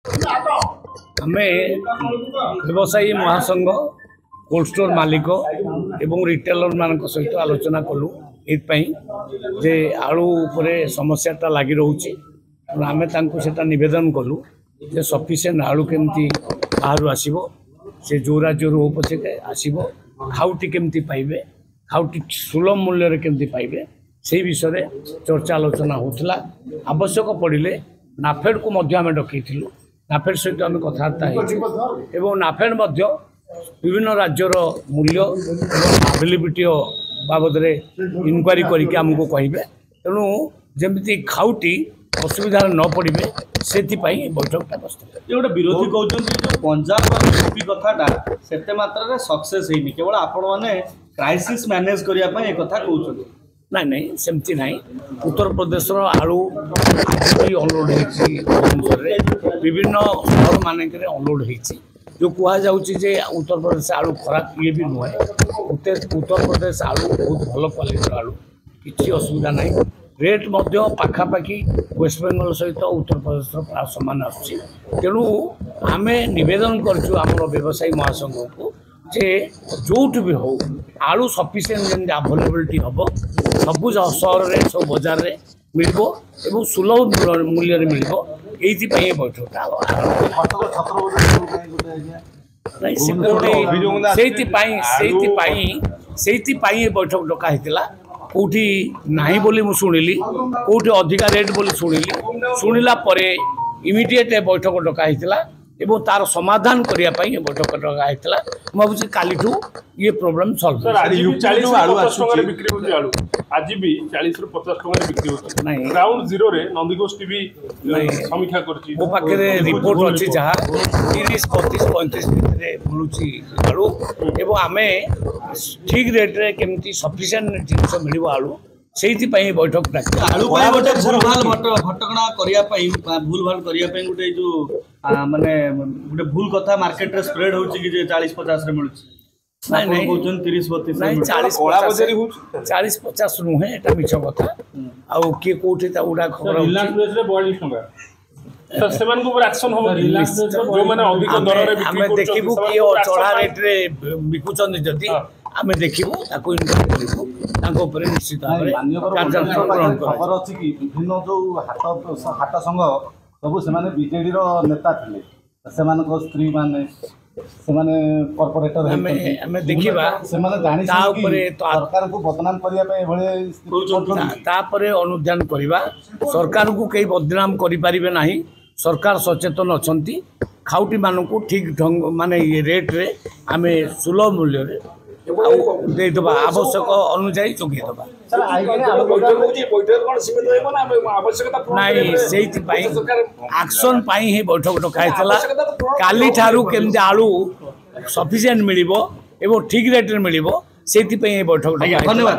ଆମେ ବ୍ୟବସାୟୀ ମହାସଂଘ, କୋଲ୍ଡ ଷ୍ଟୋର୍ ମାଲିକ ଏବଂ ରିଟେଲରମାନଙ୍କ ସହିତ ଆଲୋଚନା କଲୁ ଏଇଥିପାଇଁ ଯେ ଆଳୁ ଉପରେ ସମସ୍ୟାଟା ଲାଗି ରହୁଛି। ତେଣୁ ଆମେ ତାଙ୍କୁ ସେଇଟା ନିବେଦନ କଲୁ ଯେ ସଫିସିଏଣ୍ଟ ଆଳୁ କେମିତି ବାହାରୁ ଆସିବ, ସେ ଯେଉଁ ରାଜ୍ୟରୁ ହଉ ପଛେ ଆସିବ, ଖାଉଟି କେମିତି ପାଇବେ, ଖାଉଟି ସୁଲଭ ମୂଲ୍ୟରେ କେମିତି ପାଇବେ, ସେଇ ବିଷୟରେ ଚର୍ଚ୍ଚା ଆଲୋଚନା ହେଉଥିଲା। ଆବଶ୍ୟକ ପଡ଼ିଲେ ନାଫେଡ଼କୁ ମଧ୍ୟ ଆମେ ଡକେଇଥିଲୁ, ନାଫେଡ଼ ସହିତ ଆମେ କଥାବାର୍ତ୍ତା ହେଇଛୁ ଏବଂ ନାଫେଡ଼ ମଧ୍ୟ ବିଭିନ୍ନ ରାଜ୍ୟର ମୂଲ୍ୟ ଏବଂ ଆଭେଲେବିଲିଟି ବାବଦରେ ଇନକ୍ୱାରି କରିକି ଆମକୁ କହିବେ। ତେଣୁ ଯେମିତି ଖାଉଟି ଅସୁବିଧାରେ ନ ପଡ଼ିବେ ସେଥିପାଇଁ ଏ ବୈଠକଟା ବସିଥିଲା। ଯେ ଗୋଟେ ବିରୋଧୀ କହୁଛନ୍ତି ଯୋଉ ପଞ୍ଜାବ ଆଉ ୟୁପି କଥାଟା ସେତେ ମାତ୍ରାରେ ସକ୍ସେସ୍ ହେଇନି, କେବଳ ଆପଣମାନେ କ୍ରାଇସିସ୍ ମ୍ୟାନେଜ କରିବା ପାଇଁ ଏ କଥା କହୁଛନ୍ତି। ନାଇଁ ନାଇଁ, ସେମିତି ନାହିଁ। ଉତ୍ତରପ୍ରଦେଶର ଆଳୁ ଆଜି ବି ଅନଲୋଡ଼ ହେଇଛି, ଭୁବନେଶ୍ୱରରେ ବିଭିନ୍ନ ସହରମାନଙ୍କରେ ଅନଲୋଡ଼ ହେଇଛି। ଯେଉଁ କୁହାଯାଉଛି ଯେ ଉତ୍ତରପ୍ରଦେଶ ଆଳୁ ଖରାପ, ଇଏ ବି ନୁହେଁ। ଉତ୍ତରପ୍ରଦେଶ ଆଳୁ ବହୁତ ଭଲ କ୍ୱାଲିଟିର ଆଳୁ, କିଛି ଅସୁବିଧା ନାହିଁ। ରେଟ୍ ମଧ୍ୟ ପାଖାପାଖି ୱେଷ୍ଟବେଙ୍ଗଲ ସହିତ ଉତ୍ତରପ୍ରଦେଶର ପ୍ରାୟ ସମାନ ଆସୁଛି। ତେଣୁ ଆମେ ନିବେଦନ କରିଛୁ ଆମର ବ୍ୟବସାୟୀ ମହାସଂଘକୁ ଯେ ଯେଉଁଠୁ ବି ହଉ ଆଳୁ ସଫିସିଏଣ୍ଟ ଯେମିତି ଆଭେଲେବିଲିଟି ହେବ, ସବୁ ସହରରେ ସବୁ ବଜାରରେ ମିଳିବ ଏବଂ ସୁଲଭ ମୂଲ୍ୟରେ ମିଳିବ, ଏଇଥିପାଇଁ ଏ ବୈଠକଟା। ନାଇଁ, ସେ କୋଉଠି ସେଇଥିପାଇଁ ଏ ବୈଠକ ଡକା ହେଇଥିଲା। କେଉଁଠି ନାହିଁ ବୋଲି ମୁଁ ଶୁଣିଲି, କେଉଁଠି ଅଧିକା ରେଟ୍ ବୋଲି ଶୁଣିଲି। ଶୁଣିଲା ପରେ ଇମିଡ଼ିଏଟ୍ ଏ ବୈଠକ ଡକା ହେଇଥିଲା ଏବଂ ତାର ସମାଧାନ କରିବା ପାଇଁ ଏ ବୈଠକ ଡକା ହେଇଥିଲା। ମୁଁ ଭାବୁଛି କାଲିଠୁ ଇଏ ପ୍ରୋବ୍ଲେମ୍ ସଲ୍ଭ। ଆଜି ବି 40ରୁ 50 ଟଙ୍କାରେ ବିକ୍ରି ହେଉଛି ଆଳୁ। ଆଜି ବି 40ରୁ 50 ଟଙ୍କାରେ ବିକ୍ରି ହେଉଛି। ନାଇଁ, ଗ୍ରାଉଣ୍ଡ ଜିରୋରେ ନନ୍ଦିଘୋଷ ଟିଭି ସମୀକ୍ଷା କରିଛି। ମୋ ପାଖରେ ରିପୋର୍ଟ ଅଛି, ଯାହା 30, 32, 35 ଭିତରେ ମିଳୁଛି ଆଳୁ ଏବଂ ଆମେ ଠିକ୍ ରେଟ୍ରେ କେମିତି ସଫିସିଏଣ୍ଟ ଜିନିଷ ମିଳିବ ଆଳୁ, ସେଇଥିପାଇଁ ବୈଠକ ଡାକି। ଆଳୁ ପାଇଁ ଗୋଟେ ଭୁଲଭାଲ ଘଟଣା କରିବା ପାଇଁ ବା ଭୁଲଭାଲ କରିବା ପାଇଁ ଗୋଟେ ଏଇ ଯୋଉ ମାନେ ଗୋଟେ ଭୁଲ କଥା ମାର୍କେଟରେ ସ୍ପ୍ରେଡ ହଉଛି କି ଯେ 40 50ରେ ମିଳୁଛି। ନାଇଁ, ଆପଣ ନାଇଁ। କହୁଛନ୍ତି 30 32ରେ ନାଇଁ, ମିଳୁଛି। 40 କଳାବଜାରୀ ହଉଛି। 40 50 ନୁହେଁ, ଏଟା ମିଛ କଥା। ଆଉ କିଏ କୋଉଠି ତା ଗୁଡା ଖବର ହଉଛି। ରିଲାଏନ୍ସ ପ୍ରେସରେ 42 ଟଙ୍କା। ସାର୍, ସେମାନଙ୍କ ଉପରେ ଆକ୍ସନ ହବ କି? ରିଲାଏନ୍ସ ଯୋଉମାନେ ଅଧିକ ଆମେ ଦରରେ ବିକ୍ରି ଆମେ କରୁଛନ୍ତି, ଦେଖିବୁ ସେମାନଙ୍କ କିଏ ଉପରେ action ଚଢ଼ା ପାଇଁ- ରେଟ୍ରେ ବିକୁଛନ୍ତି। ଯଦି ଆମେ ଦେଖିବୁ, ତାକୁ ଇନକ୍ୱାରି କରିବୁ, ତାଙ୍କ ଉପରେ ନିଶ୍ଚିତ ଭାବରେ ମାନ୍ୟବର କାର୍ଯ୍ୟାନୁଷ୍ଠାନ ଗ୍ରହଣ କରାଯିବ। ଖବର ଅଛି କି ବିଭିନ୍ନ ଯୋଉ ହାଟ ହାଟ ସଂଘ ସବୁ ସେମାନେ ବିଜେଡିର ନେତା ଥିଲେ, ସେମାନଙ୍କ ସ୍ତ୍ରୀ ମାନେ ସେମାନେ କର୍ପୋରେଟର ଆମେ ଆମେ ଦେଖିବା। ସେମାନେ ଜାଣି ତା ଉପରେ ସରକାରଙ୍କୁ ବଦନାମ କରିବା ପାଇଁ ଏଭଳି ସ୍ଥିତି କରୁଛନ୍ତି। ତାପରେ ଅନୁଧ୍ୟାନ କରିବା। ସରକାରଙ୍କୁ କେହି ବଦନାମ କରିପାରିବେ ନାହିଁ। ସରକାର ସଚେତନ ଅଛନ୍ତି। ଖାଉଟିମାନଙ୍କୁ ଠିକ୍ ଢଙ୍ଗ ମାନେ ଇଏ ରେଟ୍ରେ ଆମେ ସୁଲଭ ମୂଲ୍ୟରେ ଆଉ ଦେଇଦେବା, ଆବଶ୍ୟକ ଅନୁଯାୟୀ ଯୋଗାଇ ଦେବା। ନାଇଁ, ସେଇଥିପାଇଁ ଆକ୍ସନ୍ ପାଇଁ ହିଁ ବୈଠକ ଡକା ହେଇଥିଲା। କାଲିଠାରୁ କେମିତି ଆଳୁ ସଫିସିଏଣ୍ଟ ମିଳିବ ଏବଂ ଠିକ୍ ରେଟ୍ରେ ମିଳିବ, ସେଇଥିପାଇଁ ଏ ବୈଠକ ଡକା ହେଇଥିଲା। ଧନ୍ୟବାଦ।